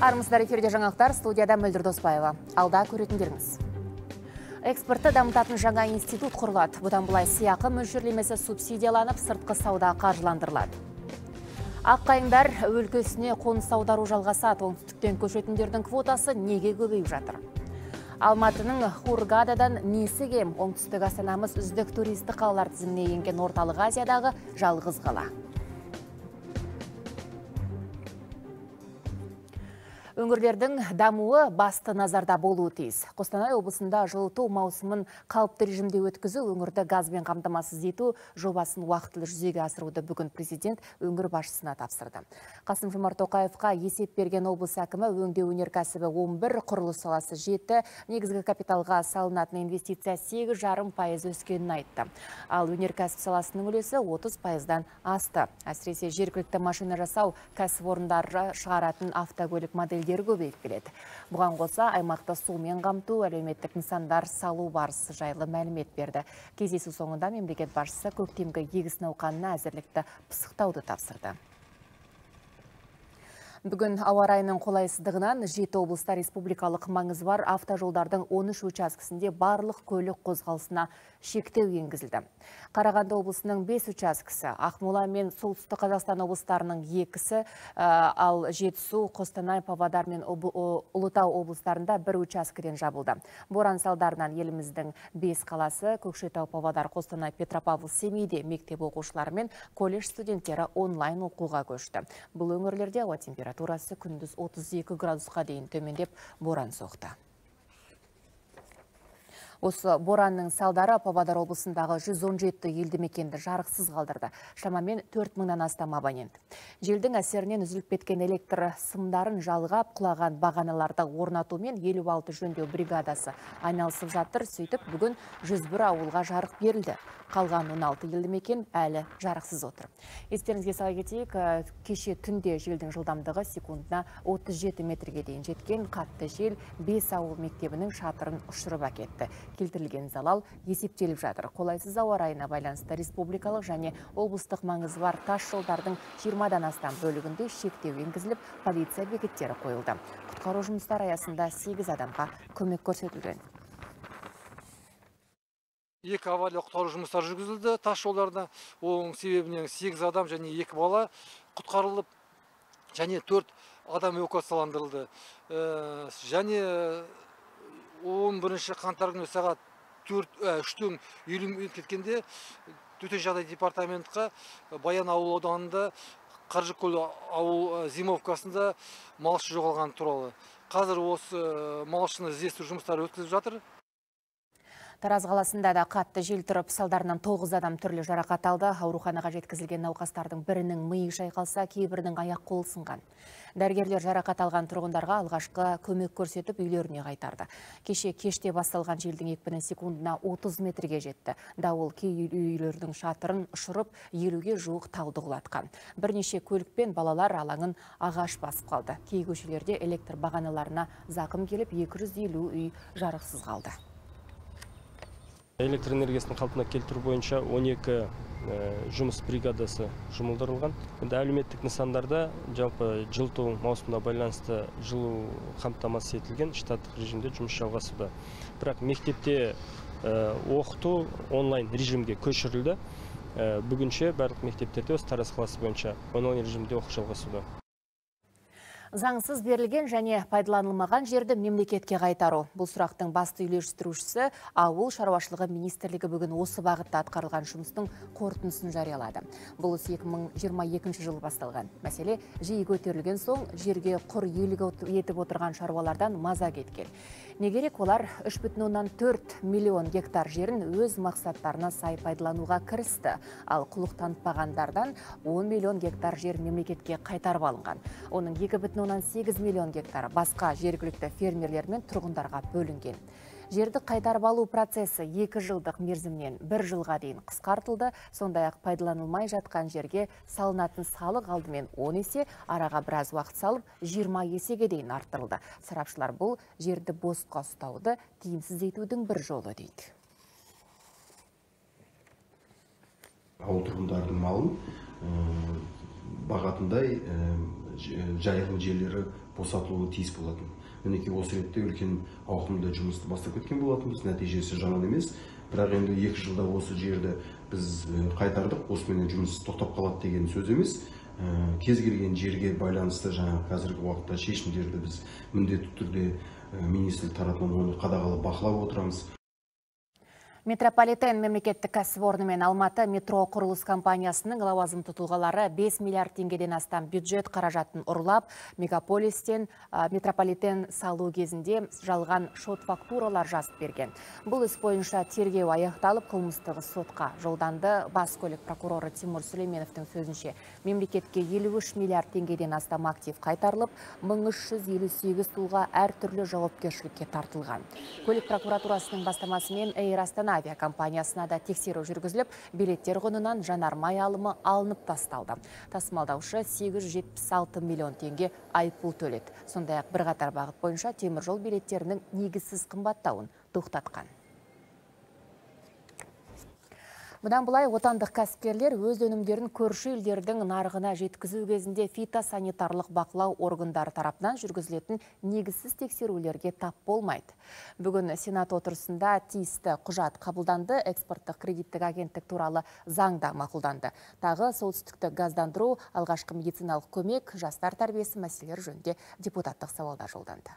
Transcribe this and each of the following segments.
Армысыздар, эфирде жаңалықтар, студияда Мөлдір Доспаева. Алда көретіндеріңіз. Экспортты дамытатын жаңа институт құрылады. Бұдан былай сыйақы мөлшерлемесі субсидияланып, сыртқы сауда қаржыландырылады. Аққайыңдар өлкесіне қоныс аудару жалғасады. Оңтүстіктен көшетіндердің квотасы неге көбейіп жатыр? Алматының Хургададан несі кем? Оңтүстік астанамыз үздік туристік қалалар тізіміне енген Орталық Азиядағы жалғыз қала. Өңірлердің дамуы басты назарда болуы тиіс. Қостанай облысында жылыту маусымын қалыпты режимде өткізу, өңірді газбен қамтамасыз ету жобасын уақытылы жүзеге асыруды бүгін президент өңір басшысына тапсырды. Қасым-Жомарт Тоқаевқа есеп берген облыс әкімі өңдеу өнеркәсібі 11, құрылыс саласы 7, негізгі капиталға салынатын инвестиция 8,5% өскенін айтты. Ал өнеркәсіп саласының үлесі 30%-дан асты. Әсіресе жергілікті машина жасау кәсіпорындары шығаратын автокөлік модельдері көбейіп келеді. Бұған қоса аймақта сумен қамту, әлеуметтік нысандар салу барысы жайлы мәлімет берді. Кездесу соңында мемлекет басшысы көктемгі егіс науқанына әзірлікті пысықтауды тапсырды. Бүгін ауа райының қолайсыздығынан 7 облыста республикалық маңызы бар автожолдардың 13 учаскісінде барлық көлік қозғалысына шектеу енгізілді. Қарағанды облысының 5 учаскісі, Ақмола мен Солтүстік Қазақстан облыстарының 2-сі, ал Жетісу, Қостанай, Павлодар мен Ұлытау облыстарында 1 учаскіден жабылды. Боран салдарынан еліміздің 5 қаласы, Көкшетау, Павлодар, Қостанай, Петропавл, Семейде мектеп оқушылары мен колледж студенттері онлайн оқуға көшті. Бұл өңірлерде ауа температурасы күндіз 32 градусқа дейін төмендеп боран соқты. Осы боранның салдары Павлодар облысындағы 117 елді мекенді жарықсыз қалдырды. Шамамен 4 мыңнан астам абонент. Желдің әсерінен үзіліп кеткен электр сымдарын жалғап, құлаған бағаналарды орнатумен 56 жөндеу бригадасы айналысып жатыр. Сөйтіп, бүгін 101 ауылға жарық берілді. Қалған 16 елді мекен әлі жарықсыз отыр. Естеріңізге сала кетейік, кеше түнде желдің жылдамдығы секундына 37 метрге дейін жеткен қатты жел 5 ауыл мектебінің шатырын ұшырып әкетті. Келтірілген залал есептеліп жатыр. Қолайсыз ауа райына байланысты республикалық және облыстық маңызы бар тас жолдардың 20-дан астам бөлігінде шектеу енгізіліп, полиция бекеттері қойылды. Құтқару жұмыстары аясында 8 адамға көмек көрсетілген. 2 авариялық-құтқару жұмыстары жүргізілді тас жолдарда. Оның себебінен 8 адам және 2 бала құтқарылып, және 4 адам эвакуацияландырылды. Және 11 қаңтар күні сағат 3:50 кеткенде төтенше жағдай департаментқа Баян ауыл ауданында Қаржыкөл ауыл зимовкасында малшы жоғалған туралы. Қазір осы малшыны іздестіру жұмыстары өткізіліп жатыр. Тараз қаласында да қатты жел тұрып, салдарынан 9 адам түрлі жарақат алды. Ауруханаға жеткізілген науқастардың бірінің миы шайқалса, кейбірінің аяқ қолы сынған. Дәрігерлер жарақат алған тұрғындарға алғашқы көмек көрсетіп, үйлеріне қайтарды. Кеште басталған желдің екпіні секундына 30 метрге жетті. Дауыл кей үйлердің шатырын ұшырып, 50-ге жуық талды құлатқан. Бірнеше көлік пен балалар алаңын ағаш басып қалды. Кей көшелерде электр бағаналарына зақым келіп, 250 үй жарықсыз қалды. Электр энергиясын қалпына келтіру бойынша 12 жұмыс бригадасы жұмылдырылған. Енді әлеуметтік нысандарда жалпы жылыту маусымына байланысты жылу қамтамасыз етілген штаттық режимде жұмыс жалғасуда. Бірақ мектепте оқыту онлайн режимге көшірілді. Бүгінше барлық мектептерде осы Тараз қаласы бойынша онлайн режимде оқу жалғасуда. Заңсыз берілген және пайдаланылмаған жерді мемлекетке қайтару. Бұл сұрақтың басты үйлестірушісі ауыл шаруашылығы министрлігі бүгін осы бағытта атқарылған жұмыстың қорытындысын жариялады. Бұл іс 2022 жылы басталған. Мәселе жиі көтерілген соң жерге құр иелік етіп отырған шаруалардан маза кеткен. Не керек, олар 3,4 миллион гектар жерін өз мақсаттарына сай пайдалануға кірісті. Ал құлық танытпағандардан 10 миллион гектар жер мемлекетке қайтарып алынған. Оның 2,8 миллион гектар басқа жергілікті фермерлер мен тұрғындарға бөлінген. Жерді қайтарып алу процесі 2 жылдық мерзімнен 1 жылға дейін қысқартылды. Сондай-ақ пайдаланылмай жатқан жерге салынатын салық алдымен 10 есе, араға біраз уақыт салып 20 есеге дейін арттырылды. Сарапшылар бұл жерді босқа ұстауды тиімсіз етудің бір жолы дейді. Ауыл тұрғындардың малын бағатындай жайылым жерлері босатылуы тиіс болатын. Мінекей осы ретте үлкен ауқымды жұмысты бастап кеткен болатынбыз. Нәтижесі жаман емес. Бірақ енді 2 жылда осы жерді біз қайтардық. Осымен жұмыс тоқтап қалады деген сөз емес. Кез келген жерге байланысты жаңа қазіргі уақытта шешімдерді біз міндетті түрде министрлік тарапынан оны қадағалап бақылап отырамыз. Метрополитен мемлекеттік кәсіпорны мен Алматы метро құрылыс компаниясының лауазымды тұлғалары 5 миллиард теңгеден астам бюджет қаражатын ұрлап, мегаполистен метрополитен салу кезінде жалған шот фактуралар жазып берген. Бұл іс бойынша тергеу аяқталып, қылмыстық сотқа жолданды. Бас көлік прокуроры Тимур Сүлейменовтің сөзінше, мемлекетке 53 миллиард теңгеден астам актив қайтарылып, 1358 тұлға әртүрлі жауапкершілікке тартылған. Көлік прокуратурасының бастамасымен Эйр Астана авиакомпаниясына да тексеру жүргізіліп, билеттер құнынан жанармай алымы алынып тасталды. Тасымалдаушы 876 миллион теңге айыппұл төледі. Сондай-ақ бірқатар бағыт бойынша теміржол билеттерінің негізсіз қымбаттауын тоқтатқан. Бұдан бұлай отандық кәсіпкерлер өз өнімдерін көрші елдердің нарығына жеткізу кезінде фитосанитарлық бақылау органдары тарапынан жүргізілетін негізсіз тексерулерге тап болмайды. Бүгін Сенат отырысында тиісті құжат қабылданды, экспорттық кредиттік агенттік туралы заңда мақұлданды. Тағы солтүстікті газдандыру, алғашқы медициналық көмек, жастар тәрбиесі мәселелері жөнінде депутаттық сауалдар жолданды.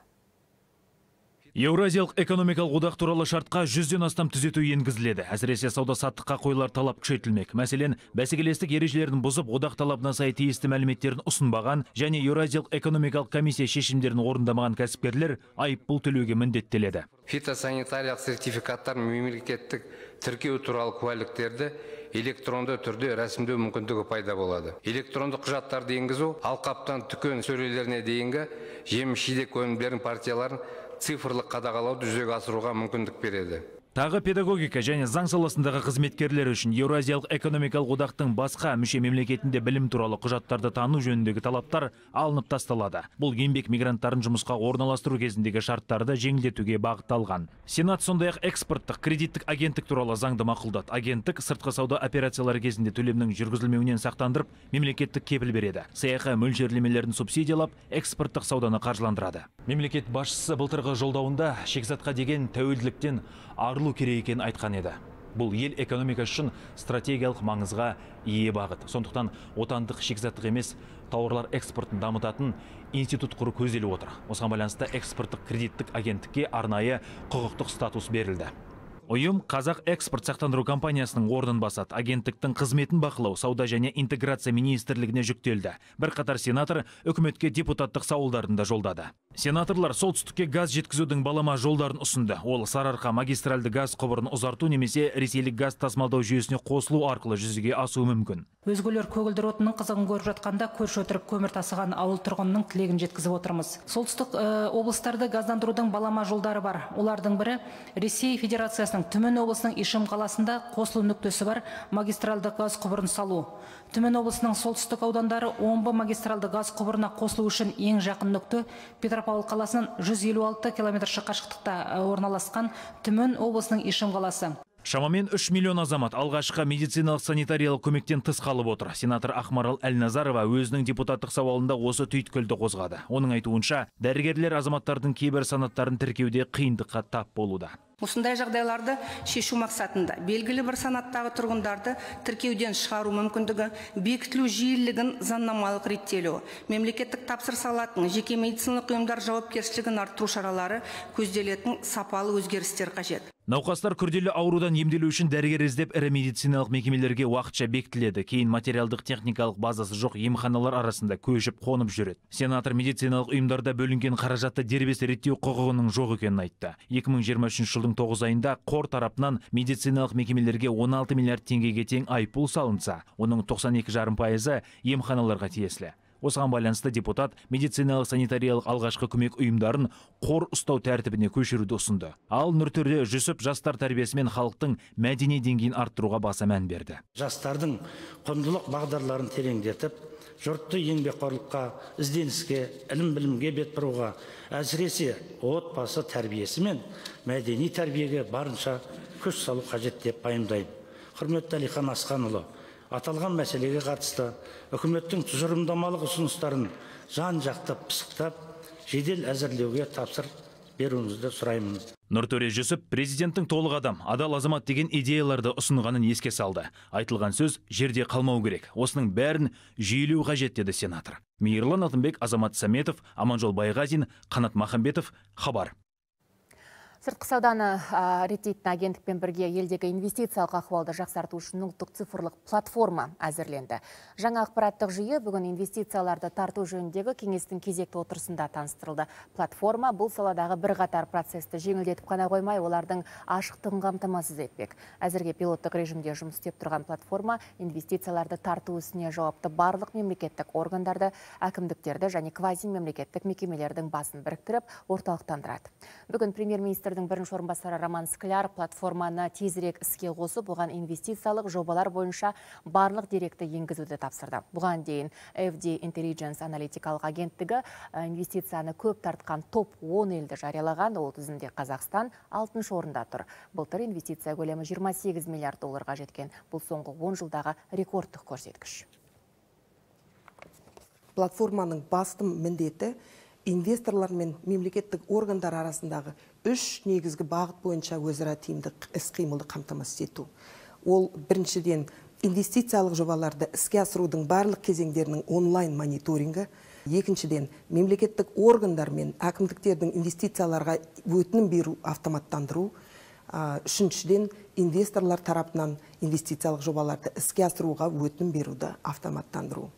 Еуразиялық экономикалық одақ туралы шартқа 100-ден астам түзету енгізіледі. Әсіресе сауда-саттыққа қойылар талап күшейтілмек. Мәселен, бәсекелестік ережелерін бұзып, одақ талабына сай тиісті мәліметтерін ұсынбаған және Еуразиялық экономикалық комиссия шешімдерін орындамаған кәсіпкерлер айыппұл төлеуге міндеттеледі. Фитосанитариялық сертификаттар мемлекеттік тіркеу туралы куәліктерді электронды түрде рәсімдеу мүмкіндігі пайда болады. Электронды құжаттарды енгізу алқаптан түкен сөрелеріне дейінгі жеміс-жидек өнімдердің партияларын цифрлық қадағалауды жүзеге асыруға мүмкіндік береді. Тағы педагогика және заң саласындағы қызметкерлер үшін Еуразиялық экономикалық одақтың басқа мүше мемлекетінде білім туралы құжаттарды тану жөніндегі талаптар алынып тасталады. Бұл еңбек мигранттарын жұмысқа орналастыру кезіндегі шарттарды жеңілдетуге бағытталған. Сенат сондай-ақ экспорттық кредиттік агенттік туралы заңды мақұлдады. Агенттік сыртқы сауда операциялары кезінде төлемнің жүргізілмеуінен сақтандырып, мемлекеттік кепіл береді. Саяхи мөлшерлемелерін субсидиялап, экспорттық сауданы қаржыландырады. Мемлекет басшысы былтырғы жолдауында шикізатқа деген тәуелділіктен арылу керек екенін айтқан еді. Бұл ел экономикасы үшін стратегиялық маңызға ие бағыт. Сондықтан отандық шикізаттық емес тауарлар экспортын дамытатын институт құру көзделіп отыр. Осыған байланысты экспорттық кредиттік агенттікке арнайы құқықтық статус берілді. Ұйым Қазақ экспорт сақтандыру компаниясының орнын басады. Агенттіктің қызметін бақылау, сауда және интеграция министрлігіне жүктелді. Бірқатар сенатор үкіметке депутаттық сауалдарын да жолдады. Сенаторлар солтүстікке газ жеткізудің балама жолдарын ұсынды. Ол Сарыарқа магистральды газ құбырын ұзарту немесе ресейлік газ тасымалдау жүйесіне қосылу арқылы жүзеге асуы мүмкін. Өзгелер көгілдір отынның қызығын көріп жатқанда көрші отырып көмір тасыған ауыл тұрғынның тілегін жеткізіп отырмыз. Солтүстік облыстарды газдандырудың балама жолдары бар. Олардың бірі Ресей Федерациясының Түмен облысының Ишим қаласында қосылу нүктесі бар магистралды газ құбырын салу. Түмен облысының солтүстік аудандары Омбы магистралды газ құбырына қосылу үшін ең жақын нүкте Петропавл қаласынан 156 км қашықтықта орналасқан Түмен облысының Ишим қаласы. Шамамен 3 миллион азамат алғашқы медициналық санитариялық көмектен тыс қалып отыр. Сенатор Ақмарал Әлназарова өзінің депутаттық сауалында осы түйткілді қозғады. Оның айтуынша, дәрігерлер азаматтардың кейбір санаттарын тіркеуде қиындыққа тап болуда. Осындай жағдайларды шешу мақсатында белгілі бір санаттағы тұрғындарды тіркеуден шығару мүмкіндігі, бекітілу жиілігін заңнамалық реттелу, мемлекеттік тапсырыс алатын жеке медициналық ұйымдар жауапкершілігін арттыру шаралары көзделетін сапалы өзгерістер қажет. Науқастар күрделі аурудан емделу үшін дәрігер іздеп ірі медициналық мекемелерге уақытша бекітіледі. Кейін материалдық техникалық базасы жоқ емханалар арасында көшіп қонып жүреді. Сенатор медициналық ұйымдарда бөлінген қаражатты дербес реттеу құқығының жоқ екенін айтты. 2023 жылдың 9 айында қор тарапынан медициналық мекемелерге 16 миллиард теңгеге тең айыппұл салынса, оның 92,5% емханаларға тиесілі. Осыған байланысты депутат медициналық санитариялық алғашқы көмек ұйымдарын қор ұстау тәртібіне көшіруді ұсынды. Ал Нұртөре Жүсіп жастар тәрбиесі мен халықтың мәдени деңгейін арттыруға баса мән берді. Жастардың құндылық бағдарларын тереңдетіп, жұртты еңбекқорлыққа, ізденіске, ілім-білімге бет бұруға, әсіресе отбасы тәрбиесі мен мәдени тәрбиеге барынша күш салу қажет деп пайымдаймын. Құрметті Әлихан Асқанұлы, аталған мәселеге қатысты үкіметтің тұжырымдамалық ұсыныстарын жан жақты пысықтап, жедел әзірлеуге тапсыр беруіңізді сұраймын. Нұртөре Жүсіп президенттің толық адам, адал азамат деген идеяларды ұсынғанын еске салды. Айтылған сөз жерде қалмау керек. Осының бәрін жүйелеу қажет деді сенатор. Мейірлан Алтынбек, Азамат Саметов, Аманжол Байғазин, Қанат Махамбетов, Хабар. Сыртқы сауданы реттейтін агенттікпен бірге елдегі инвестициялық ахуалды жақсарту үшін ұлттық цифрлық платформа әзірленді. Жаңа ақпараттық жүйе бүгін инвестицияларды тарту жөніндегі кеңестің кезекті отырысында таныстырылды. Платформа бұл саладағы бірқатар процесті жеңілдетіп қана қоймай, олардың ашықтығын қамтамасыз етпек. Әзірге пилоттық режимде жұмыс істеп тұрған платформа инвестицияларды тарту ісіне жауапты барлық мемлекеттік органдарды, әкімдіктерді және квазимемлекеттік мекемелердің басын біріктіріп, орталықтандырады. Бүгін премьер-министрдің бірінші орынбасары Роман Скляр платформаны тезірек іске қосып, оған инвестициялық жобалар бойынша барлық деректі енгізуді тапсырды. Бұған дейін FD Intelligence аналитикалық агенттігі инвестицияны көп тартқан топ 10 елді жариялаған, ол тізімде Қазақстан 6-шы орында тұр. Былтыр инвестиция көлемі 28 миллиард долларға жеткен. Бұл соңғы 10 жылдағы рекордтық көрсеткіш. Платформаның басты міндеті инвесторлар мен мемлекеттік органдар арасындағы 3 негізгі бағыт бойынша өзара тиімді іс-қимылды қамтамасыз ету. Ол біріншіден инвестициялық жобаларды іске асырудың барлық кезеңдерінің онлайн мониторингі, екіншіден мемлекеттік органдар мен әкімдіктердің инвестицияларға өтінім беру автоматтандыру, үшіншіден инвесторлар тарапынан инвестициялық жобаларды іске асыруға өтінім беруді автоматтандыру.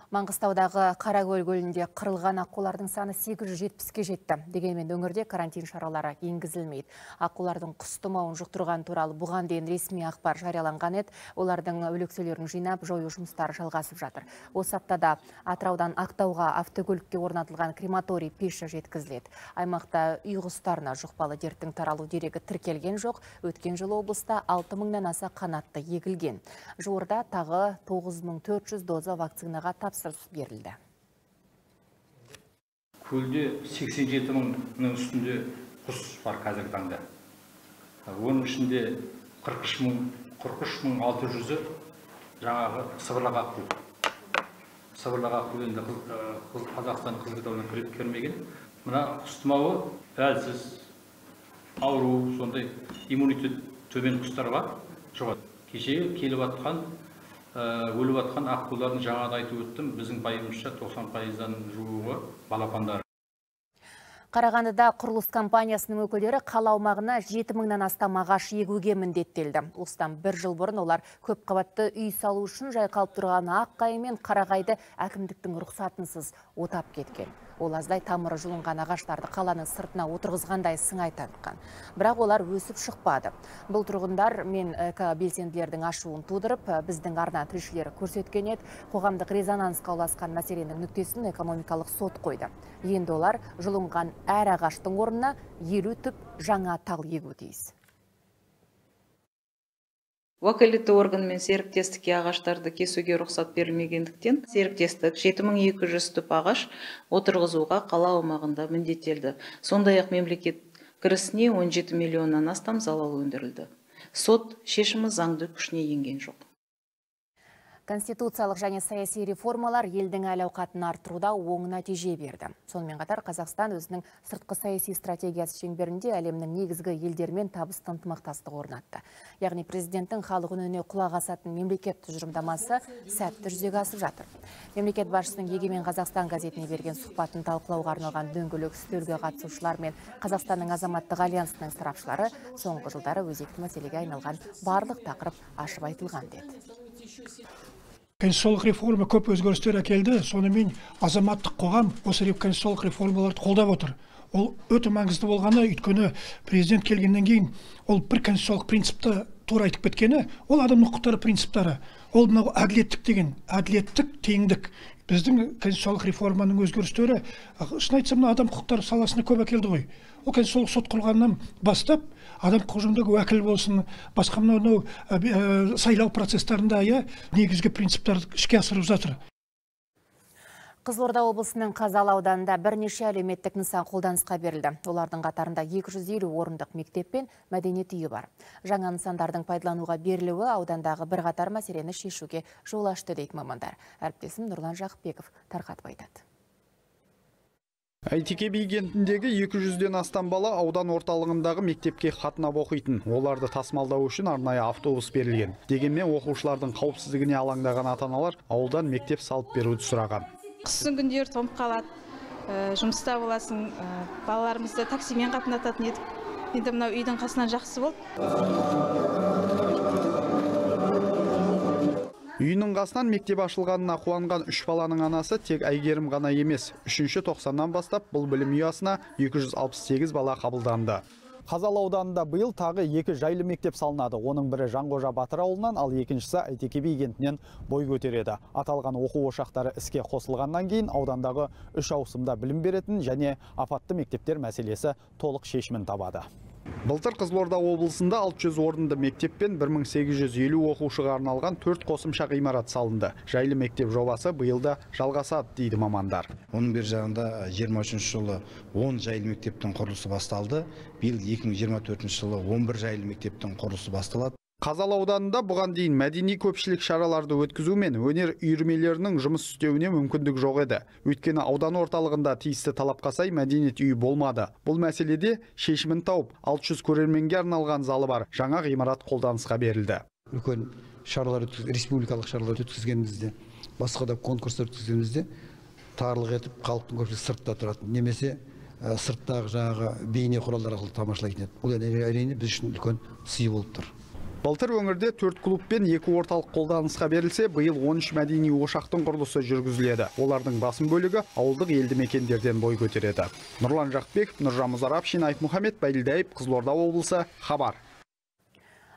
Маңғыстаудағы Қаракөл көлінде қырылған аққулардың саны 870-ке жетті. Дегенмен өңірде карантин шаралары енгізілмейді. Аққулардың құс тұмауын жұқтырған туралы бұған дейін ресми ақпар жарияланған еді. Олардың өлекселерін жинап, жою жұмыстары жалғасып жатыр. Осы аптада Атыраудан Ақтауға автокөлікке орнатылған крематорий пеші жеткізіледі. Аймақта үй құстарына жұқпалы дерттің таралу дерегі тіркелген жоқ. Өткен жылы облыста 6000-нан аса қанатты егілген. Жуырда тағы 9400 доза вакцинаға берілді. Көлде 87 мыңның үстінде құс бар қазіргі таңда. Оның ішінде 43.600-і жаңағы сыбырлақ аққу. Сыбырлақ аққу енді Қазақстан қызғытауына кірмеген. Мына құс тұмауы әлсіз, ауру, сондай иммунитет төмен құстар бар. Кеше келіп атқан өліп атқан аққулардың жаңада айтып өттім, біздің пайымызша 90%-дан жуығы балапандар. Қарағандыда құрылыс компаниясының өкілдері қала аумағына 7000-нан астам ағаш егуге міндеттелді. Осыдан бір жыл бұрын олар көп қабатты үй салу үшін жайқалып тұрған аққайы мен қарағайды әкімдіктің рұқсатынсыз отап кеткен. Ол аздай тамыры жұлынған ағаштарды қаланың сыртына отырғызғандай сыңай танытқан. Бірақ олар өсіп шықпады. Бұл тұрғындар мен белсенділердің ашуын тудырып, біздің арна тілшілері көрсеткен еді, қоғамдық резонансқа ұласқан мәселенің нүктесін экономикалық сот қойды. Енді олар жұлынған әр ағаштың орнына 50 түп жаңа тал егуі тиіс. Уәкілетті органмен серіктестікке ағаштарды кесуге рұқсат берілмегендіктен, серіктестік 7200 түп ағаш отырғызуға қала аумағында міндеттелді. Сондай-ақ мемлекет кірісіне 17 миллионнан астам залал өндірілді. Сот шешімі заңды күшіне енген жоқ. Конституциялық және саяси реформалар елдің әл-ауқатын арттыруда оң нәтиже берді. Сонымен қатар Қазақстан өзінің сыртқы саяси стратегиясы шеңберінде әлемнің негізгі елдермен табысты ынтымақтастық орнатты. Яғни президенттің халық үніне құлақ асатын мемлекет тұжырымдамасы сәтті жүзеге асып жатыр. Мемлекет басшысының Егемен Қазақстан газетіне берген сұхбатын талқылауға арналған дөңгелек үстелге қатысушылар мен Қазақстанның азаматтық альянсының сарапшылары соңғы жылдары өзекті мәселеге айналған барлық тақырып ашып айтылған деді. Конституциялық реформа көп өзгерістер әкелді, сонымен азаматтық қоғам осы конституциялық реформаларды қолдап отыр. Ол өте маңызды болғаны, өйткені президент келгеннен кейін ол бір конституциялық принципті тура айтып кеткені, ол адам құқықтары принциптары. Ол мынау әділеттік деген, әділеттік, теңдік. Біздің конституциялық реформаның өзгерістері, шын айтсам, адам құқықтары саласына көп әкелді ғой. Ол конституциялық сот құрғаннан бастап, адам құқығындағы уәкіл болсын, басқа мынау сайлау процестерінде негізгі принциптарды іске асырып жатыр. Қызылорда облысының Қазалы ауданында бірнеше әлеуметтік нысан қолданысқа берілді. Олардың қатарында 250 орындық мектеп пен мәдениет үйі бар. Жаңа нысандардың пайдалануға берілуі аудандағы бірқатар мәселені шешуге жол ашты дейді мамандар. Әріптесім Нұрлан Жақыпбеков тарқатып айтады. Әйтеке би кентіндегі 200-ден астам бала аудан орталығындағы мектепке қатынап оқитын. Оларды тасымалдау үшін арнайы автобус берілген. Дегенмен оқушылардың қауіпсіздігіне алаңдаған ата-аналар ауылдан мектеп салып беруді сұраған. Қыстың күндері тоңып қалады, жұмыста боласың, балаларымызды таксимен қатынататын едік. Енді мынау үйдің қасынан жақсы болды. Үйінің қасынан мектеп ашылғанына қуанған 3 баланың анасы тек Әйгерім ғана емес. 3-ші тоқсаннан бастап бұл білім ұясына 268 бала қабылданды. Қазалы ауданында биыл тағы 2 жайлы мектеп салынады. Оның бірі Жанғожа Батыр ауылынан, ал екіншісі Әйтеке би кентінен бой көтереді. Аталған оқу ошақтары іске қосылғаннан кейін аудандағы 3 ауысымда білім беретін және апатты мектептер мәселесі толық шешімін табады. Былтыр Қызылорда облысында 600 орынды мектеп пен 1850 оқушыға арналған 4 қосымша ғимарат салынды. Жайлы мектеп жобасы биылда жалғасады дейді мамандар. Оның бер жағында 23 жылы 10 жайлы мектептің құрылысы басталды. Биыл 2024 жылы 11 жайлы мектептің құрылысы басталады. Қазалы ауданында бұған дейін мәдени көпшілік шараларды өткізу мен өнер үйірмелерінің жұмыс істеуіне мүмкіндік жоқ еді. Өйткені аудан орталығында тиісті талапқа сай мәдениет үйі болмады. Бұл мәселеде шешімін тауып, 600 көрерменге арналған залы бар жаңа ғимарат қолданысқа берілді. Үлкен шаралар республикалық шаралар өткізгенімізде, басқа да конкурстар өткізгенімізде тарлық етіп халықтың көпшілігі сыртта тұрады. Немесе сырттағы жаңағы бейне құралдар арқылы тамашалайтын еді. Бұл әрине біз үшін үлкен сый болып тұр. Былтыр өңірде 4 клуб пен 2 орталық қолданысқа берілсе, биыл 13 мәдени ошақтың құрылысы жүргізіледі. Олардың басым бөлігі ауылдық елді мекендерден бой көтереді. Нұрлан Жақыпбеков, Нұржан Мұзарап, Мұхаммед Байділдаев, Қызылорда облысы, хабар.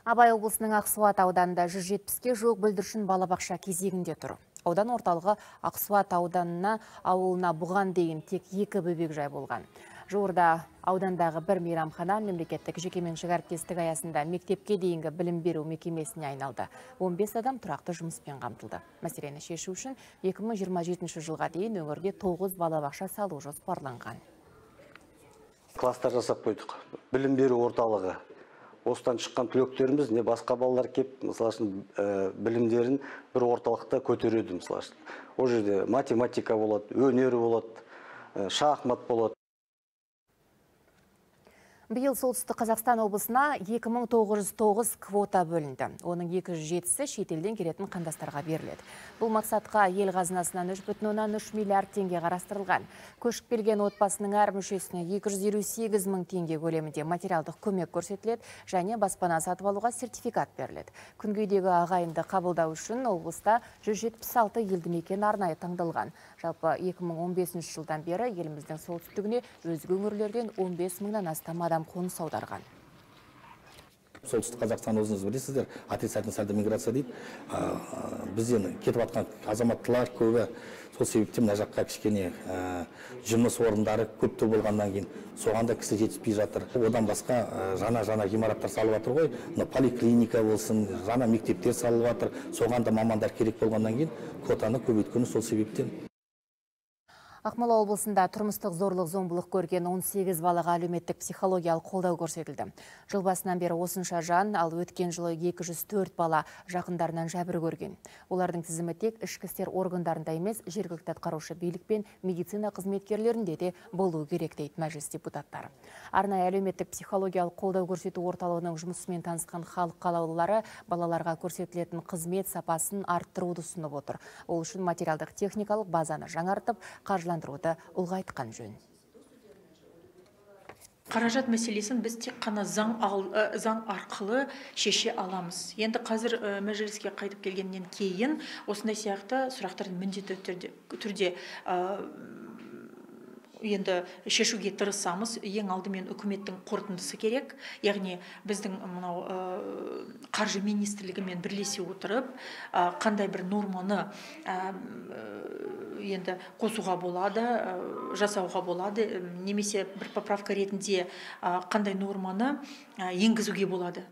Абай облысының Ақсуат ауданында 170-ке жуық бүлдіршін балабақша кезегінде тұр. Аудан орталығы Ақсуат ауданына ауылына бұған дейін тек 2 бөбекжай болған. Жуырда аудандағы бір мейрамхана мемлекеттік жекеменшік әріптестік аясында мектепке дейінгі білім беру мекемесіне айналды. 15 адам тұрақты жұмыспен қамтылды. Мәселені шешу үшін 2027 жылға дейін өңірде 9 балабақша салу жоспарланған. Кластар жасап қойдық. Білім беру орталығы. Осыдан шыққан түлектеріміз не басқа балалар кеп, мысалы үшін білімдерін бір орталықта көтереді, мысалы үшін. О жерде математика болады, өнері болады, шахмат болады. Биыл солтүстік Қазақстан облысына 2909 квота бөлінді. Оның 207-сі шетелден келетін қандастарға беріледі. Бұл мақсатқа ел қазынасынан 3,3 миллиард теңге қарастырылған. Көшіп келген отбасының әр мүшесіне 258 мың теңге көлемінде материалдық көмек көрсетіледі және баспана сатып алуға сертификат беріледі. Күнгейдегі ағайынды қабылдау үшін облыста 176 елді мекен арнайы таңдалған. Жалпы 2015 жылдан бері еліміздің солтүстігіне өзге өңірлерден 15 мыңнан астам адам қоныс аударған. Солтүстік Қазақстан өзіңіз білесіздер, отрицательный сальдо миграция дейді. Бізден кетіп жатқан азаматтылар көбі. Сол себептен мына жаққа кішкене жұмыс орындары көптір болғаннан кейін соған да кісі жетіспей жатыр. Одан басқа жаңа ғимараттар салып жатыр ғой. Поликлиника болсын, жаңа мектептер салып жатыр. Соған да мамандар керек болғаннан кейін квотаны көбейткені сол себептен. Ақмола облысында тұрмыстық зорлық зомбылық көрген 18 балаға әлеуметтік психологиялық қолдау көрсетілді. Жыл басынан бері осынша жан, ал өткен жылы 204 бала жақындарынан жәбір көрген. Олардың тізімі тек ішкі істер органдарында емес, жергілікті атқарушы билік пен медицина қызметкерлерінде де болуы керек дейді мәжіліс депутаттары. Арнайы әлеуметтік психологиялық қолдау көрсету орталығының жұмысымен танысқан халық қалаулылары балаларға көрсетілетін қызмет сапасын арттыруды ұсынып отыр. Ол үшін материалдық техникалық базаны жаңартып, қаржыландыруды ұлғайтқан жөн. Қаражат мәселесін біз тек қана заң арқылы шеше аламыз. Енді қазір мәжіліске қайтып келгеннен кейін осындай сияқты сұрақтардың міндетті түрде енді шешуге тырысамыз. Ең алдымен үкіметтің қорытындысы керек. Яғни біздің мынау қаржы министрлігімен бірлесе отырып, қандай бір норманы енді қосуға болады, жасауға болады, немесе бір поправка ретінде қандай норманы енгізуге болады.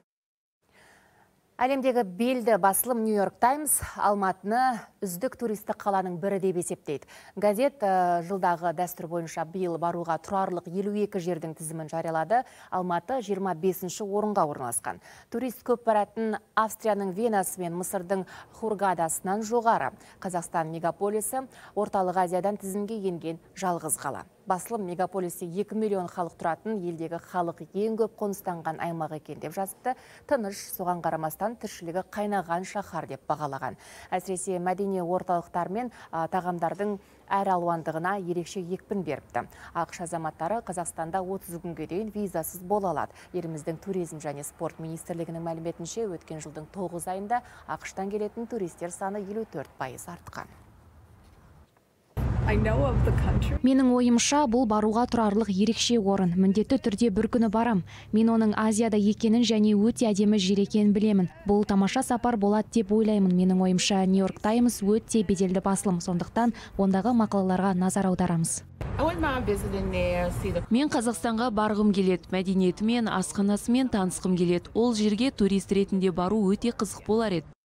Әлемдегі белді басылым Нью-Йорк Таймс Алматыны үздік туристік қаланың бірі деп есептейді. Газет жылдағы дәстүр бойынша биыл баруға тұрарлық 52 жердің тізімін жариялады. Алматы 25-ші орынға орналасқан. Турист көп баратын Австрияның Венасы мен Мысырдың Хургадасынан жоғары. Қазақстан мегаполисі орталық Азиядан тізімге енген жалғыз қала. Басылым мегаполисте 2 миллион халық тұратын елдегі халық ең көп қоныстанған аймақ екен деп жазыпты. Тыныш, соған қарамастан тіршілігі қайнаған шаһар деп бағалаған. Әсіресе мәдени орталықтар мен тағамдардың әр алуандығына ерекше екпін беріпті. ақш азаматтары Қазақстанда 30 күнге дейін визасыз бола алады. Еліміздің туризм және спорт министрлігінің мәліметінше өткен жылдың 9 айында ақштан келетін туристер саны 54% артқан. Менің ойымша, бұл баруға тұрарлық ерекше орын. Міндетті түрде бір күні барам. Мен оның Азияда екенін және өте әдемі жер екенін білемін. Бұл тамаша сапар болады деп ойлаймын. Менің ойымша, Нью-Йорк Таймс өте беделді басылым, сондықтан ондағы мақалаларға назар аударамыз. Мен Қазақстанға барғым келеді, мәдениетімен, асханасымен танысқым келеді. Ол жерге турист ретінде бару өте қызық болар еді.